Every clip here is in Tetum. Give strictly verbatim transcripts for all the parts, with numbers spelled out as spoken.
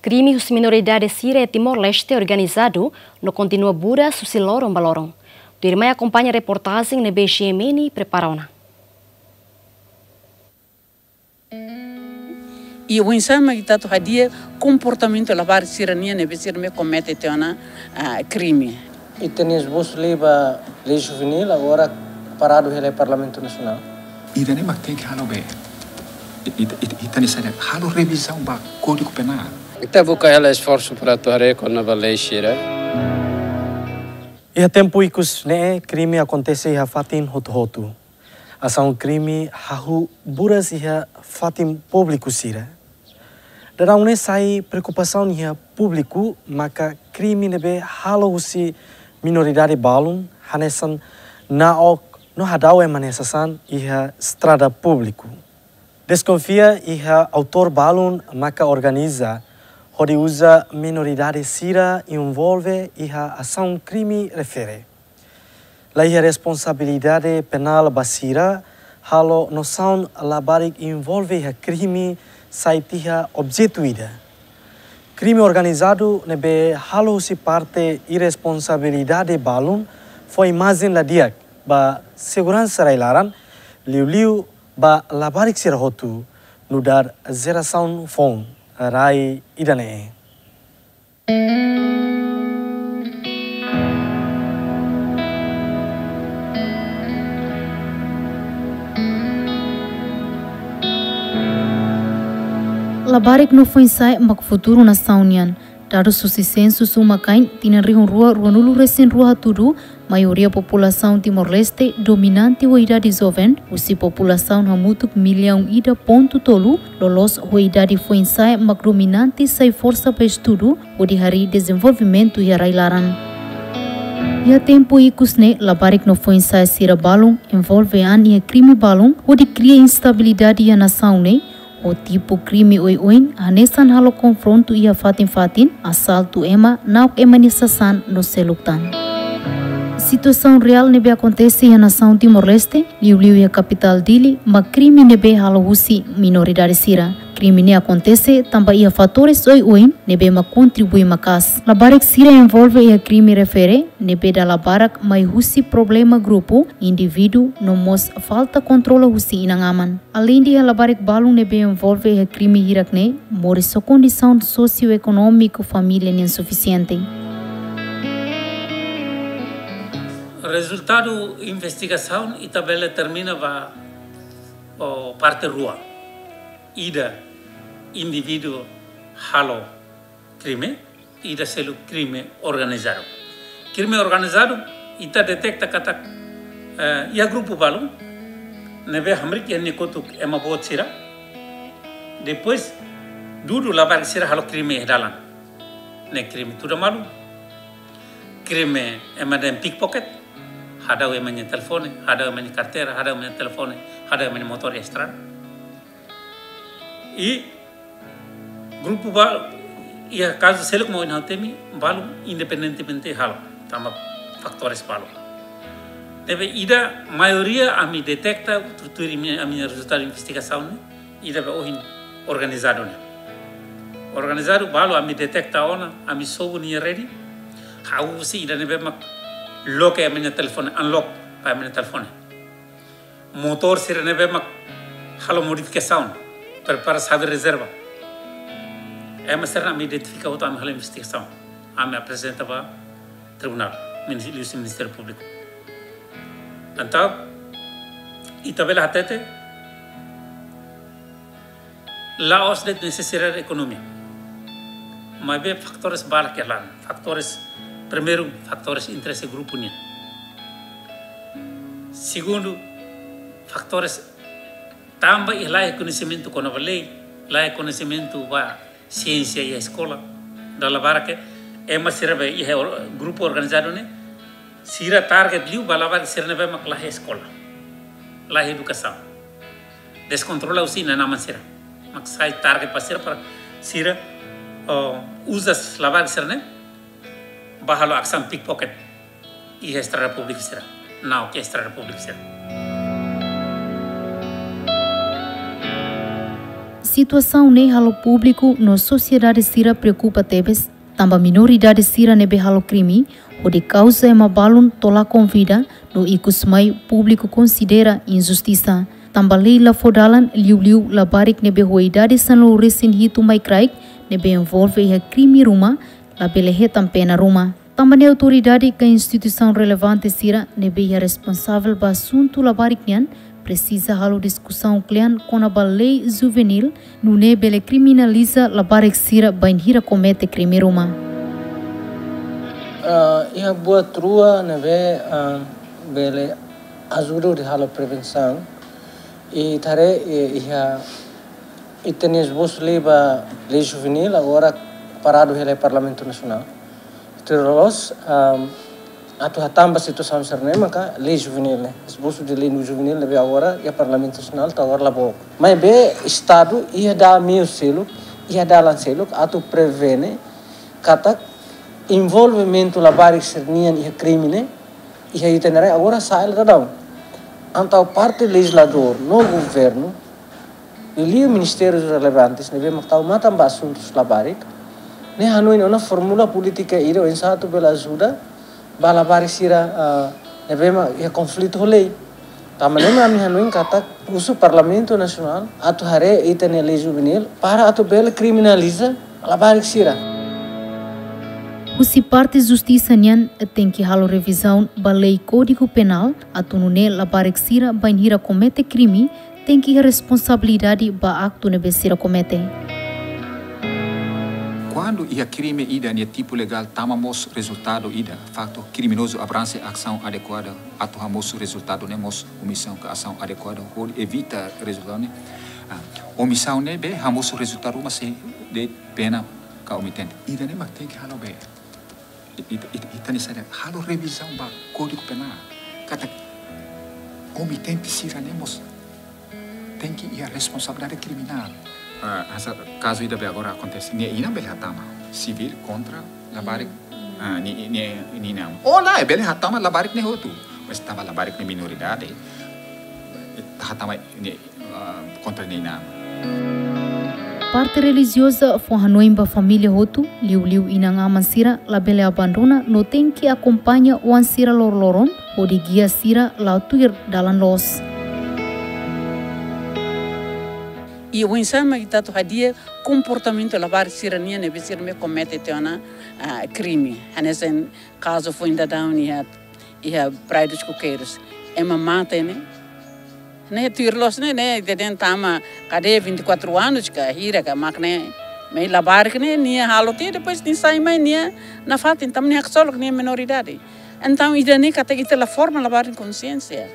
Krime husi minoridade sira iha Timor-Leste organizadu no kontinua buras husi loron ba loron. Tuirmai akompaña reportajen ne'ebé G M N prepara ona. I oinsá mak ita atu hadi'a komportamentu labarik sira-nian ne'ebé sira mak komete tiha ona, ah, krime. I tenis bus liba lei juvenil agora paradu hela Parlamentu Nasionál. Ida-ne'e mak tenke halo be. I, i, i, ita-nia sira halo revizaun ba Kódigu Penál. Ita buka hela esforsu para atu haree kona-ba lei sira. Iha tempu ikus ne'e krime akontese iha fatin hotu-hotu. Asaun krime hahú buras iha fatin públiku sira. Daudaun ne'e sai preokupasaun iha públiku maka krime ne'ebé halo husi minoridade balun hanesan na'ok no hadau ema nia sasán iha estrada públiku. Deskonfia iha autór balun maka organiza hodi uza minoridade sira envolve iha asaun krime refere. La iha responsabilidade penál ba sira, halo nosaun labarik envolve iha krime sai tiha objetu ida. Krime organizadu ne'ebé halo husi parte irresponsabilidade balun fó imajen la di'ak ba seguransa rai-laran, liuliu ba labarik sira hotu, nu'udar jerasaun foun rai ida-ne'e. Labarik no foin-sa'e mak futuru nasaun nian. Dadus husi sensus uma-kain tinan rihun rua ruanulu-resin-rua hatudu, maioria populasaun Timor-Leste dominante ho idade joven, husi populasaun hamutuk millaun ida pontu tolu, loloos ho idade foin-sa'e mak dominante sai forsa ba estudu, hodi harii dezenvolvimentu iha rai-laran. Iha tempu ikus ne'e, labarik no foin-sa'e sira balun envolve an iha krime balun, hodi kria instabilidade iha nasaun ne'e, ho tipu krime oioin, hanesan halo konfrontu iha fatin-fatin, asaltu ema, na'ok ema nia sasán no seluk tan. Situasaun reál ne'ebé akontese iha nasaun Timor-Leste, liuliu iha kapitál Dili, mak krime ne'ebé halo husi minoridade sira. Krime ne'e akontese tanba iha fatores oioin ne'ebé mak kontribui maka'as. Labarik sira envolve iha krime refere, ne'ebé dala barak mai husi problema grupu, indivíduu, no mós falta kontrola husi inan-aman. Aleinde iha labarik balun ne'ebé envolve iha krime hirak-ne'e, moris ho kondisaun sosioekonómiku família ne'e insufisiente. Rezultadu investigasaun ita bele determina ba, o, parte rua. Ida, indivíduu halo krime, ida seluk krime organizadu. Krime organizadu, ita deteta katak, eh, iha grupu balun ne'ebé hamriik iha nia kotuk ema boot sira. Depois, dudu labarik sira halo krime iha dalan. Ne'e krime tuda malu. Krime ema dehan pickpocket, hadau ema nia telefone, hadau ema nia karteira, hadau ema nia telefone, hadau ema nia motór iha estrada. I grupu ba, iha kazu seluk mak ohin ha'u temi, balun independentemente halo, tanba fatores balun. Ne'ebé ida maioria ami deteta, tuir ami-, ami-nia rezultadu investigasaun ne'e, ida be ohin organizadu ne'e. Organizadu balun ami deteta ona, ami sobu nia rede, hahú husi ida ne'ebé mak loke ema nia telefone, unlock ba ema nia telefone. Motór sira ne'ebé mak halo modifikasaun, prepara xave rezerva. Ema sira-ne'e ami identifika hotu, ami halo investigasaun. Ami aprezenta ba tribunál, minis-, liuhusi Ministériu Públiku. Entaun, ita bele hatete, la'ós de'it nesesidade ekonomia. Maibé fatores barak iha laran. Fatores, primeiru, fatores interese grupu nian. Segundu, fatores tanba iha laiha koñesimentu kona-ba lei, laiha koñesimentu ba siénsia iha eskola. Dala barak ema sira be iha or-, grupu organizadu ne'e, sira target liu ba labarik sira ne'ebé mak laiha eskola, laiha edukasaun. Deskontrola husi inan-aman sira. Mak sai target ba sira para sira, oh, uza labarik sira-ne'e ba halo asaun pickpocket iha estrada públiku sira. Na'ok iha estrada públiku sira. Situasaun ne'e halo públiku no sosiedade sira preokupa tebes, tanba minoridade sira ne'ebé halo krime, hodi kauza ema balun to'o la konvida, no ikus mai públiku konsidera injustisa. Tanba lei la fó dalan, liuliu labarik ne'ebé ho idade sanulu-resin-hitu mai kraik, ne'ebé envolve iha krime ruma, labele hetan pena ruma. Tanba ne'e autoridade ka instituisaun relevante sira ne'ebé iha responsavel ba asuntu labarik nian presiza halo diskusaun kle'an kona-ba lei juvenil, nune'e bele kriminaliza labarik sira bainhira komete krime ruma. Ah, iha buat rua ne'ebé, ah, bele ajuda hodi halo prevensaun. Ita haree, eh, iha ita-nia esbosu lei ba lei juvenil agora paradu hela iha Parlamentu Nasionál. Tuir loloos, am, atu hatán ba situasaun sira-ne'e maka lei juvenil ne'e, esbosu de lei juvenil ne'ebé agora iha Parlamentu Nasionál to'o agora la book. Maibé Estadu iha dada meiu seluk, iha dalan seluk atu prevene katak envolvimentu labarik sira-nian iha krime ne'e iha ita-nia rai agora sa'e la daudaun. Entaun parte lejizladór no governu, liuliu ministérius relevantes ne'ebé mak tau matan ba asuntus labarik, ne'e hanoin ona fórmula polítika ida oinsá atu bele ajuda ba labarik sira, ah, ne'ebé mak iha konflitu ho lei. Tanba ne'e mak ami hanoin katak husu Parlamentu Nasionál atu haree ita-nia lei juvenil para atu bele kriminaliza labarik sira. Husi parte justisa nian tenke halo revizaun ba lei Kódigu Penál, atu nune'e labarik sira bainhira komete krime tenke iha responsabilidade ba aktu ne'ebé sira komete. Kuandu iha krime ida nia tipu legál tama mós rezultadu ida, faktu kriminozu abranxe asaun adekuada atu hamosu rezultadu ne'e mós omisaun ka asaun adekuada hodi evita rezultadu ne'e. Ah, omisaun ne'ebé hamosu rezultadu ruma sei de'it pena ka omitente. Ida-ne'e mak tenke halo be. Ita, ita, ita-nia saida halo revizaun ba Kódigu Penál. Katak omitente sira-ne'e mós tenke iha responsabilidade kriminál. Ah, hanesan kazu ida be agora akontese. Nia inan bele hatama. Sivíl kontra labarik. Ah, ni, ni, ni inan. Ou lae, bele hatama labarik ne'e hotu. Mas tanba labarik ne'e minoridade. Hatama nia, ah, kontra nia inan. Parte relijioza fó hanoin ba família hotu, liuliu inan-aman sira labele abandona no tenke akompaña oan sira loroloron, hodi gia sira la'o tuir dalan loos. I oinsá mak ita atu hadi'a komportamentu labarik sira-nian ne'ebé sira mai komete tiha ona, ah, krime. Hanesan kazu foin daudaun iha, iha Praia dos Coqueiros. Ema mate ne'e. Ne'e tuir loos ne'e, ne'e ita dehan tama kadeia vinte e quatro anos ka hira ka mak ne'e. Mai labarik ne'e, nia halo tiha, depois nia sai mai nia nafatin, tanba nia haksolok nia menoridade. Entaun, ida-ne'e katak ita la forma labarik konsiénsia.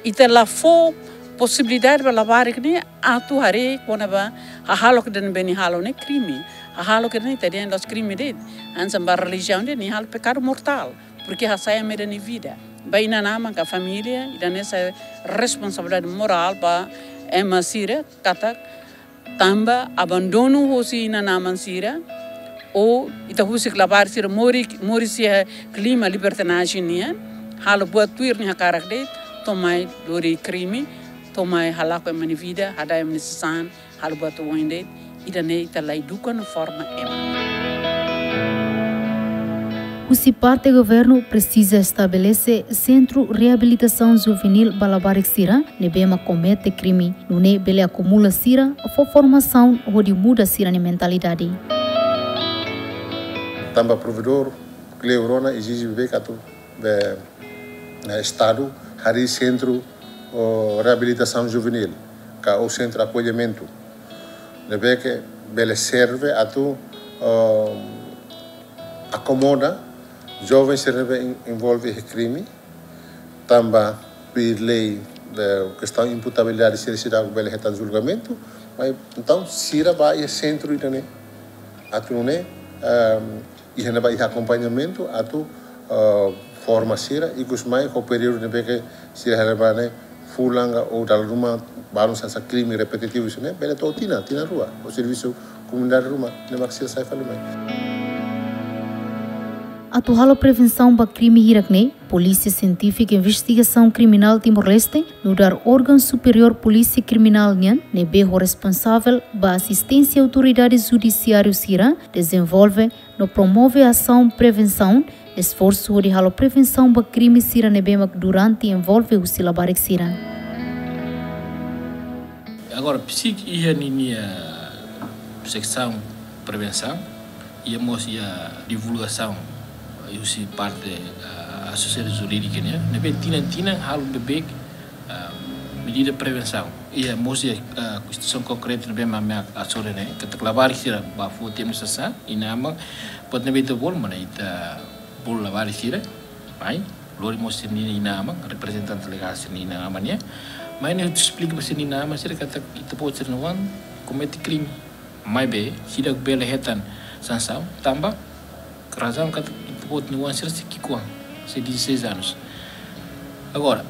Ita la fó posibilidade ba labarik ne'e atu haree kona-ba hahalok ida ne'ebé nia halo ne'e krime. Hahalok ida ne'e ita dehan la'ós krime de'it. Hanesan ba relijiaun dehan nia halo pekadu mortál. Porke hasa'e ema ida nia vida. Ba inan-aman ka família, ida-ne'e sai responsabilidade morál ba ema sira, katak tanba abandonu husi inan-aman sira, ou ita husik labarik sira moris, moris iha klima libertinajen nian, halo buat tuir nia hakarak de'it, to'o mai lori krime, to'o mai halakon ema nia vida, hada'et ema nia sasán, halo buat oin de'it, ida-ne'e ita la eduka no forma ema. Husi parte governu presiza estabelese sentru reabilitasaun juvenil ba labarik sira ne'ebé mak komete krime, nune'e bele akumula sira, fó formasaun hodi muda sira-nia mentalidade. Tanba provedór kleur ona ezije be katak be, eh, Estadu harii sentru, oh, reabilitasaun juvenil, ka ou sentru akollimentu, ne'ebé ke bele serve atu, oh, akomoda joven sira ne'ebé en-, envolve iha krime, tanba tuir lei, eh, kestaun imputabilidade sira seidauk bele hetan julgamentu, mas entaun sira bá iha sentru ida-ne'e, atu nune'e, ehm, iha ne'ebá iha akompañamentu atu, eh, forma sira, ikus mai ho períodu ne'ebé ke sira hela ba ne'e fulan ka ou dala ruma balun hanesan krime repetitivu sira-ne'e, bele to'o tinan, tinan rua, ou servisu komunidade ruma, ne'e mak sira sai fali mai. Atu halo prevensaun ba krime hirak-ne'e, Polísia Sientífika Investigasaun Kriminál Timor-Leste nu'udar órgaun superiór Polísia Kriminál nian ne'ebé ho responsavel ba asisténsia autoridade judisiáriu sira dezenvolve no promove asaun prevensaun, esforsu hodi halo prevensaun ba krime sira ne'ebé mak durante envolve husi labarik sira. Agora, psik iha ninia seksaun prevensaun, iha mós iha divulgasaun, iha husi parte, ah, asosiasaun jurídika nian, ne'ebé tinan-tinan halo beibeik, ah, medida prevensaun. Iha mós iha, ah, situasaun konkreta ne'ebé mak, mak asore ne'e, katak labarik sira bá foti ami sasá, inan-aman, buat ne'ebé ita bolu, mana ita bolu labarik sira, mai, lori mós sira-nia inan-aman, reprezentante legál sira-nia inan-aman nian. Mai ne'e esplika ba sira-nia inan-aman sira katak ita-boot sira-nia oan komete krime. Maibé, seidauk bele hetan sansaun, tanba razaun katak ita-boot nia oan sira sei ki'ikoan, sei dezasseis anos. Agora,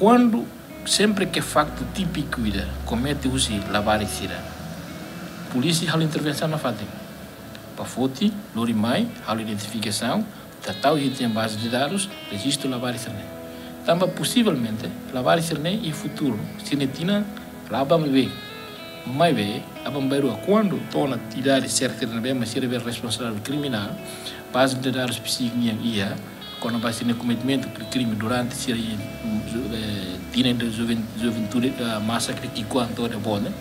kuandu sempre ke faktu típiku ida komete husi labarik sira, polísia halo intervensaun nafatin. Bá foti, lori mai, halo identifikasaun, tau iha tiha baze de dadus, rejistu labarik sira-ne'e. Tanba posivelmente, labarik sira-ne'e iha futuru, sira-nia tinan la aban beibeik. Maibé, aban-bainrua, kuandu to'o ona idade serta ne'ebé mak sira bele responsavel kriminál, baze de dadus psik nian iha, kona-ba sira-nia kometimento kri-, krime durante sira iha, eh, tinan de juven-, juventude, eh, masakre ki'ikoan to'o ida-boot ne'e.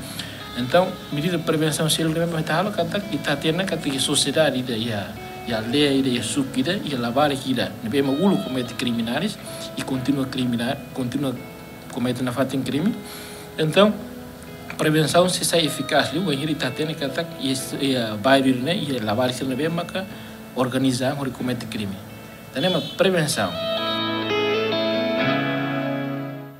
Entaun, medida prevensaun seluk ne'ebé mak ita halo katak, ita hatene katak iha sosiedade ida, iha, iha aldeia ida, iha suku ida, iha labarik ida ne'ebé mak uluk komete kriminais, i kontinua kriminál, kontinua komete nafatin krime. Entaun, prevensaun sei sai efikás liu, wainhira ita hatene katak iha, iha bairru ne'e, iha labarik sira ne'ebé maka organiza hodi komete krime. Ida-ne'e mak prevensaun.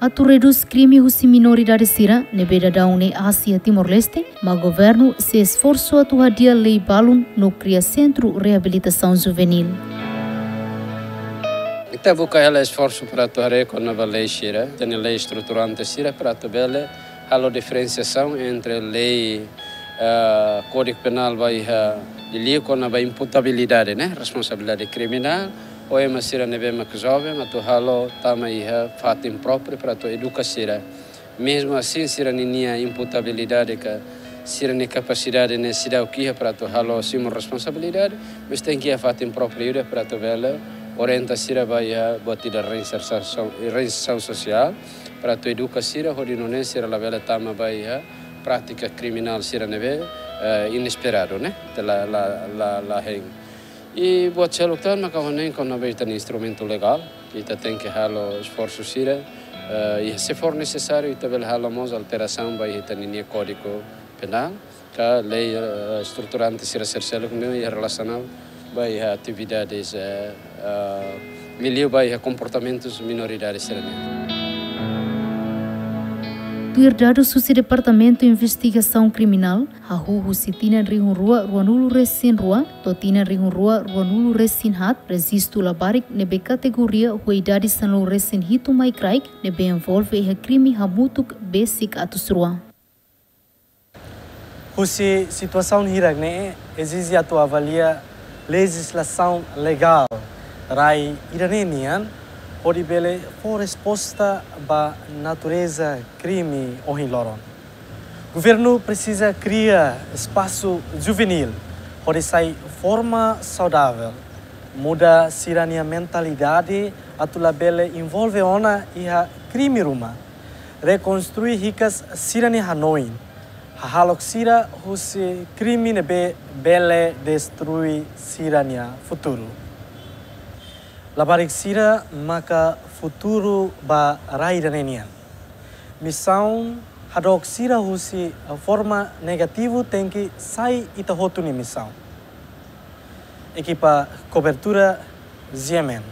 Atu redús krime husi minoridade sira ne'ebé daudaun ne'e aas iha Timor-Leste, mak governu sei esforsu atu hadi'a lei balun no kria sentru reabilitasaun juveníl. Ita buka hela esforsu para atu haree kona-ba lei sira, ita-nia lei estruturante sira para atu bele halo diferensiasaun entre lei, ah, Kódigu Penál ba iha liuliu kona-ba imputabilidade, ne'e, responsabilidade kriminál, ho ema sira ne'ebé mak joven, atu halo tama iha fatin própriu para atu eduka sira. Mezmu asin, sira-ninia imputabilidade ka sira-nia kapasidade ne'e seidauk iha para atu halo simu responsabilidade, mas tenke iha fatin própriu ida para atu bele orienta sira ba iha buat ida reinsersaun, reinsersaun sosiál, para atu eduka sira hodi nune'e sira labele tama ba iha prátika kriminál sira ne'ebé, eh, inesperadu, ne'e? Ita la, la, la, la hein. I buat seluk tan maka ho ne'e kona-ba ita-nia instrumentu legál, ita tenke halo esforsu sira, eh, i se for nesesáriu ita bele halo mós alterasaun ba iha ita-ninia Kódigu Penál, ka lei, eh, estruturante sira sel-seluk ne'e iha relasaun ba iha atividades, eh, eh, liuliu ba iha komportamentus minoridade sira-ne'e. Tuir dadus husi Departamentu Investigasaun Kriminál, hahú husi tinan rihun rua ruanulu-resin-rua to'o tinan rihun rua ruanulu-resin-haat, rejistu labarik ne'ebé kategoria ho idade sanulu-resin-hitu mai kraik ne'ebé envolve iha krime hamutuk besik atus rua. Husi situasaun hirak-ne'e ezije atu avalia lejizlasaun legál rai ida-ne'e nian hodi bele fó resposta ba natureza krime ohin loron. Governu presiza kria espasu juveníl hodi sai forma saudavel, muda sira-nia mentalidade atu labele envolve ona iha krime ruma, rekonstrui hikas sira-nia hanoin, hahalok sira husi krime ne'ebé bele destrui sira-nia futuru. Labarik sira maka futuru ba rai ida-ne'e nian. Misaun hadook sira husi forma negativu tenke sai ita hotu nia misaun. Ekipa kobertura, G M N.